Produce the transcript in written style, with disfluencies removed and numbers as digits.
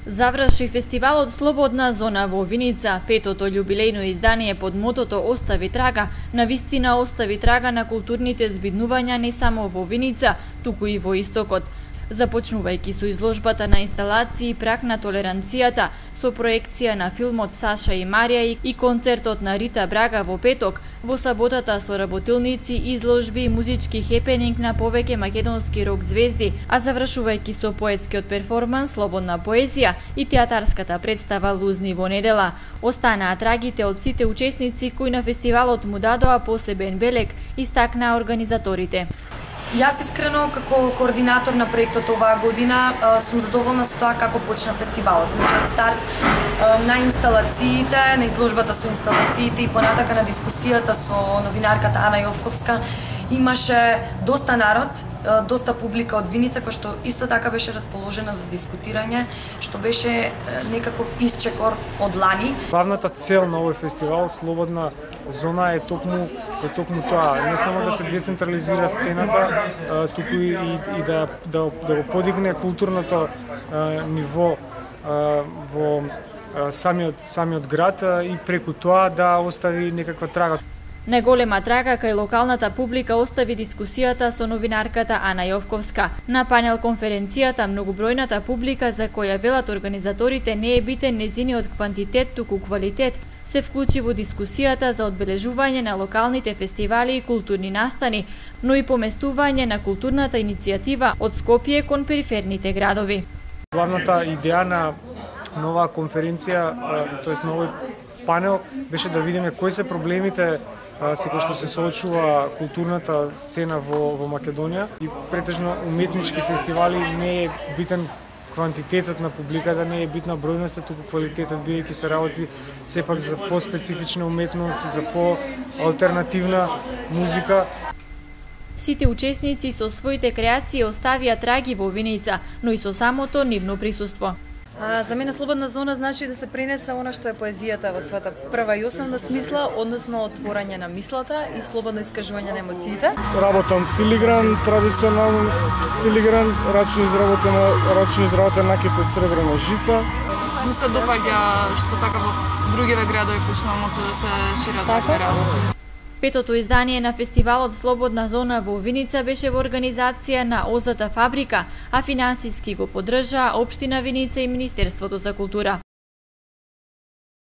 Заврши фестивалот Слободна зона во Виница, петото љубилејно издание под мотото Остави трага, навистина остави трага на културните збиднувања не само во Виница, туку и во Истокот. Започнувајќи со изложбата на инсталации Праг на толеранцијата, со проекција на филмот Саша и Марија и концертот на Рита Брага во петок, во саботата со работилници, изложби и музички хепенинг на повеќе македонски рок звезди, а завршувајќи со поетскиот перформанс Слободна поезија и театарската представа Лузни во недела. Останаа трагите од сите учесници кои на фестивалот му дадоа посебен белег, истакнаа организаторите. Јас искрено како координатор на проектот оваа година сум задоволна со тоа како почна фестивалот. Значи од старт на инсталациите, на изложбата со инсталациите и понатака на дискусијата со новинарката Ана Јовковска имаше доста народ, доста публика од Виница која што исто така беше расположена за дискутирање, што беше некаков исчекор од лани. Главната цел на овој фестивал Слободна зона е токму тоа, не само да се децентрализира сцената, туку и да го подигне културното ниво во самиот град и преку тоа да остави некаква трага. Најголема трага кај локалната публика остави дискусијата со новинарката Ана Јовковска. На панел конференцијата многобројната публика за која велат организаторите не е битен незиниот квантитет, туку квалитет, се вклучи во дискусијата за одбележување на локалните фестивали и културни настани, но и поместување на културната иницијатива од Скопје кон периферните градови. Главната идеја на оваа конференција, тоест на овој панел, беше да видиме кои се проблемите со кои што се соочува културната сцена во Македонија и претежно уметнички фестивали не е битен квантитетот на публиката, не е битна бројноста, туку квалитетот, бидејќи се работи сепак за поспецифична уметност, за по-алтернативна музика. Сите учесници со своите креации оставија траги во Виница, но и со самото нивно присуство. За мене Слободна зона значи да се пренесе она што е поезијата во својата прва и основна смисла, односно отворање на мислата и слободно искажување на емоциите. Работам филигран, традиционален филигран, рачно изработен накит од сребрена жица. Ми се допаѓа што така во другиве градови почнува моци да се шират такви работи. Петото издание на фестивалот Слободна зона во Виница беше во организација на ОЗТ Фабрика, а финансиски го поддржаа Општина Виница и Министерството за култура.